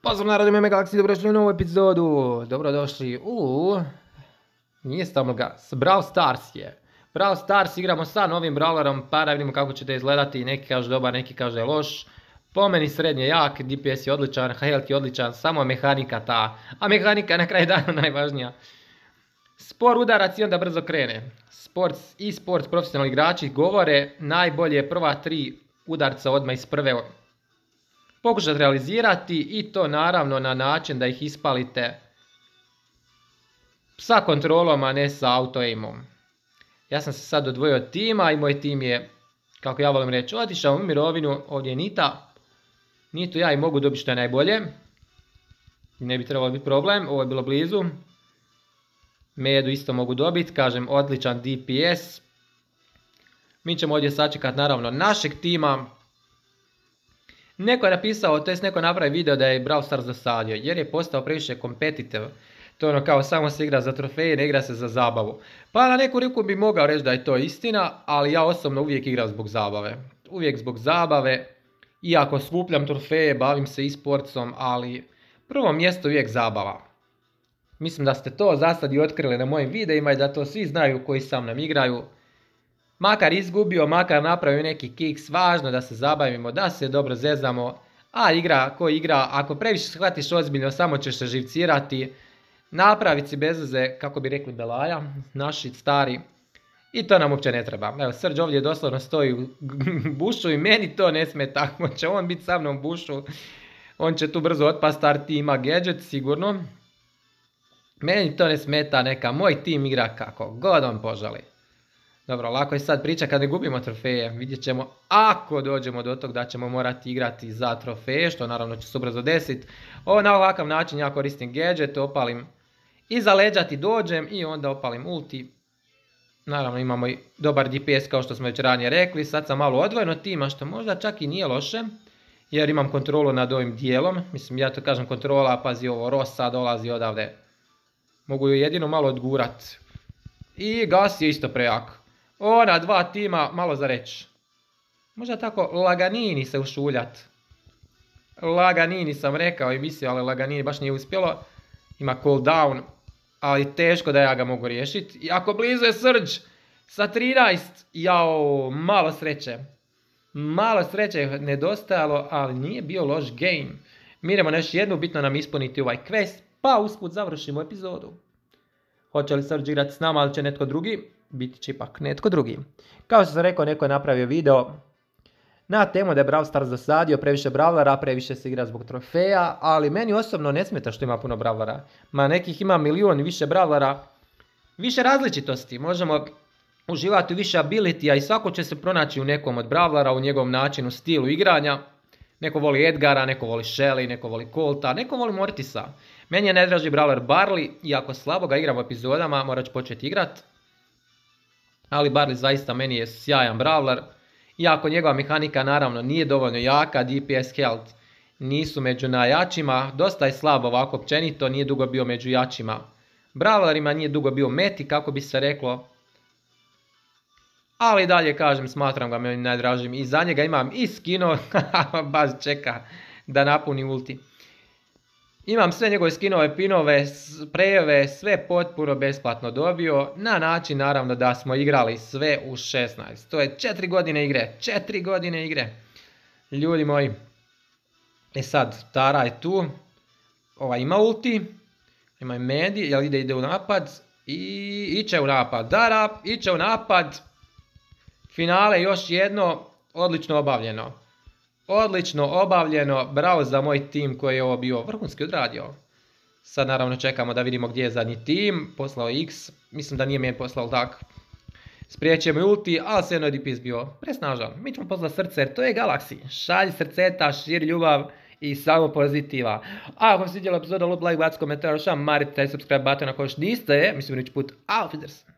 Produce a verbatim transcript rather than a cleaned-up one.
Pozdrav narod, ime Galaxy, dobrodošli u novu epizodu. Dobrodošli u... Nije Stamlga, Brawl Stars je. Brawl Stars igramo sa novim brawlerom, pa da vidimo kako će to izgledati. Neki kaže dobar, neki kaže loš. Po meni srednje jak, D P S je odličan, health je odličan, samo mehanika ta. A mehanika je na kraju dana najvažnija. Spor udarac i onda brzo krene. Sports i sports profesionalni igrači govore najbolje prva tri udarca odmah iz prve pokušati realizirati i to naravno na način da ih ispalite sa kontrolom, a ne sa auto-aimom. Ja sam se sad odvojio od tima i moj tim je, kako ja volim reći, otišao u mirovinu. Ovdje je Nita. Nitu ja i mogu dobiti što je najbolje. Ne bi trebalo biti problem, ovo je bilo blizu. Medu isto mogu dobiti, kažem odličan D P S. Mi ćemo ovdje sačekati naravno našeg tima. Neko je napisao, to jest neko napravi video da je Brawl Stars dosadio, jer je postao previše competitive. To je ono kao samo se igra za trofeje, ne igra se za zabavu. Pa na neku ruku bi mogao reći da je to istina, ali ja osobno uvijek igram zbog zabave. Uvijek zbog zabave, iako skupljam trofeje, bavim se e-sportsom, ali prvo mjesto uvijek zabava. Mislim da ste to za sad i otkrili na mojim videima i da to svi znaju koji sa mnom igraju. Makar izgubio, makar napravio neki kiks, važno da se zabavimo, da se dobro zezamo. A igra ko igra, ako previše shvatiš ozbiljno, samo ćeš se živcirati. Napraviti si bez veze, kako bi rekli Belaja, naši stari. I to nam uopće ne treba. Evo, Srđ ovdje doslovno stoji u bušu i meni to ne smeta. Ako će on biti sa mnom u bušu, on će tu brzo otpast, start ima gadget sigurno. Meni to ne smeta, neka moj tim igra kako god on poželi. Dobro, lako je sad priča kad ne gubimo trofeje. Vidjet ćemo ako dođemo do tog da ćemo morati igrati za trofeje, što naravno će se ubrzo desiti. Ovo na ovakav način ja koristim gadget, opalim iza leđa ti dođem i onda opalim ulti. Naravno imamo i dobar D P S kao što smo već ranije rekli. Sad sam malo odvojen od tima, što možda čak i nije loše, jer imam kontrolu nad ovim dijelom. Mislim, ja to kažem kontrola, pazi ovo, Rosa dolazi odavde. Mogu ju jedino malo odgurat. I Gas je isto prejak. Ona dva tima, malo za reći. Možda tako laganini se ušuljat. Laganini sam rekao i mislio, ali laganini baš nije uspjelo. Ima cooldown, ali teško da ja ga mogu riješiti. Jako blizu je Srđ sa trinaest. Jao, malo sreće. Malo sreće je nedostajalo, ali nije bio loš game. Mi idemo na još jednu, bitno nam ispuniti ovaj quest, pa usput završimo epizodu. Hoće li Srđ igrati s nama, ali će netko drugi? Biti će ipak netko drugi. Kao što sam rekao, neko je napravio video na temu da je Brawl Stars dosadio, previše brawlera, previše se igra zbog trofeja, ali meni osobno ne smeta što ima puno brawlera. Ma nekih ima milijun više brawlera, više različitosti, možemo uživati u više abilitija i svako će se pronaći u nekom od brawlera, u njegovom načinu, stilu igranja. Neko voli Edgara, neko voli Shelly, neko voli Colta, neko voli Mortisa. Meni je najdraži brawler Barley, iako slabo ga igram u epizodama, morat ću početi igrat. Ali Barley zaista meni je sjajan brawler. Iako njegova mehanika naravno nije dovoljno jaka, D P S health nisu među najjačima. Dosta je slab ovako općenito, nije dugo bio među jačima brawlerima, nije dugo bio meti kako bi se reklo. Ali dalje kažem, smatram ga meni najdražim i za njega imam i skino, baš čeka da napuni ulti. Imam sve njegove skinove, pinove, sprejeve, sve potpuno besplatno dobio, na način naravno da smo igrali sve u šesnaest. To je četiri godine igre, četiri godine igre. Ljudi moji. E sad, Tara je tu, ova ima ulti, ima i Medi, jel ide, ide u napad i iće u napad. Dara, iće u napad. Finale još jedno, odlično obavljeno. Odlično obavljeno, bravo za moj tim koji je ovo bio vrhunski odradio. Sad naravno čekamo da vidimo gdje je zadnji tim, poslao X, mislim da nije meni poslao tak. Spriječio mi ulti, ali se jedno je D P S bio presnažan. Mi ćemo poslati srce jer to je Galaxy. Šalji srceta, širi ljubav i samo pozitiva. A ako vam se svidjela epizoda, lup like, baci komentar, šam, marite taj subscribe button ako još niste, mislim idući put, auf Wiedersehen.